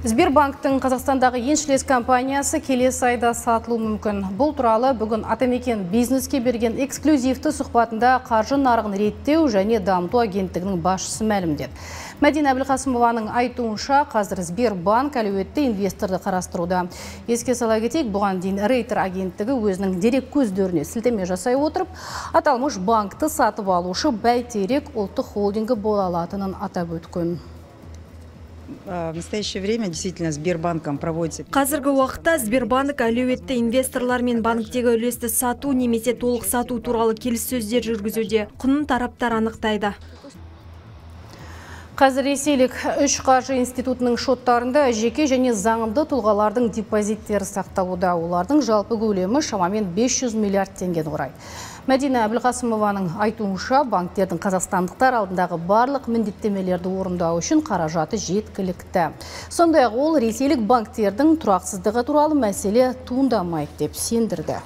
Сбербанктың Қазақстандағы еншілес компаниясы келесі айда сатылуы мүмкін. Бұл туралы бүгін Атамекен бизнеске берген эксклюзивті сұхбатында қаржы нарығын реттеу және дамыту агенттігінің басшысы мәлімдеді. Мәдина Әбілқасымованың айтуынша, қазір Сбербанк әлеуетті инвесторды қарастыруда. Еске сала кетейік, бұған дейін Рейтер агенттігі өзінің дерек көздеріне сілтеме жасай отырып, аталмыш банкты сатып алушы Бәйтерек ұлттық холдингі бола алатынын атап өткен. В настоящее время действительно Сбербанком проводится. Қазіргі уақытта Сбербанк әлеуетті инвесторлармен банктегі үлесті сату немесе толық сату туралы келіссөздер жүргізуде. Құнын тараптар анықтайды. Қазір ресейлік үш қаржы институтының шоттарында жеке және заңды тұлғалардың депозиттері сақталуда. Олардың жалпы көлемі шамамен 500 миллиард теңгені құрайды. Мәдина Әбілқасымованың айтуынша, банктердің қазақстандықтар алдындағы барлық міндеттемелерді орындау үшін қаражаты жеткілікті. Сондай-ақ ол ресейлік банктердің тұрақсыздығы туралы мәселе туындамайды деп сендірді.